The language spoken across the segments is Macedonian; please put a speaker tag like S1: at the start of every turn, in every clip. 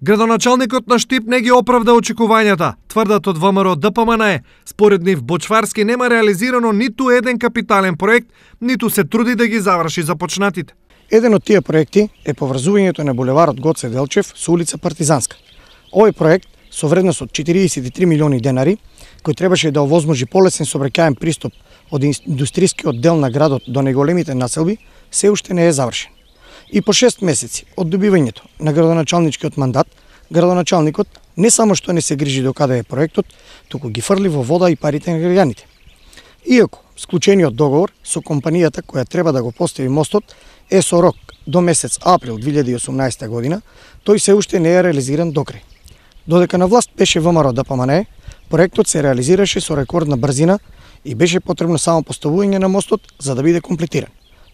S1: Градоначалникот на Штип не ги оправда очекувањата, тврдат од ВМРО ДПМН. Според нив Бочварски нема реализирано ниту еден капитален проект, ниту се труди да ги заврши започнатите.
S2: Еден од тие проекти е поврзувањето на булеварот Гоце Делчев со улица Партизанска. Овој проект со вредност од 43 милиони денари, кој требаше да овозможи полесен сообраќаен пристап од индустријскиот дел на градот до неголемите населби, се уште не е завршен. И по 6 месеци од добивањето на градоначалничкиот мандат, градоначалникот не само што не се грижи до каде е проектот, туку ги фрли во вода и парите на граѓаните. Иако склучениот договор со компанијата која треба да го постави мостот е со рок до месец април 2018 година, тој се уште не е реализиран докрај. Додека на власт беше ВМРО ДПМН, проектот се реализираше со рекордна брзина и беше потребно само поставување на мостот за да биде комплетиран.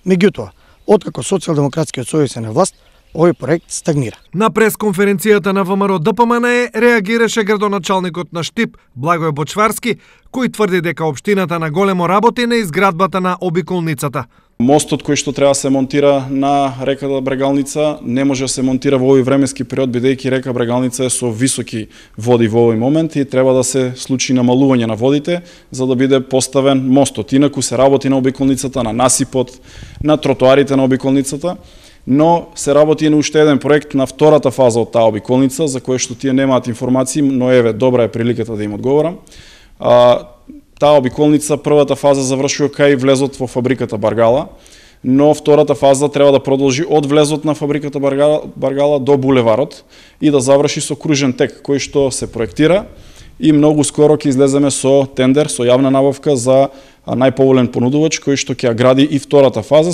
S2: Меѓутоа, откако Социјалдемократскиот сојуз е на власт, овој проект стагнира.
S1: На пресконференцијата на ВМРО ДПМН реагираше градоначалникот на Штип, Благој Бочварски, кој тврди дека општината на големо работи на изградбата на обиколницата.
S3: Мостот кој што треба да се монтира на реката Брегалница не може да се монтира во овој временски период, бидејќи река Брегалница е со високи води во овој момент и треба да се случи намалување на водите за да биде поставен мостот. Инаку се работи на обиколницата, на насипот, на тротоарите на обиколницата, но се работи и на уште еден проект на втората фаза од таа обиколница, за која што тие немаат информации, но еве добра е приликата да им одговорам. Таа обиколница, првата фаза завршува кај влезот во фабриката Баргала, но втората фаза треба да продолжи од влезот на фабриката Баргала до булеварот и да заврши со кружен тек кој што се проектира и многу скоро ќе излеземе со тендер, со јавна набавка за најповолен понудувач кој што ќе ја гради и втората фаза.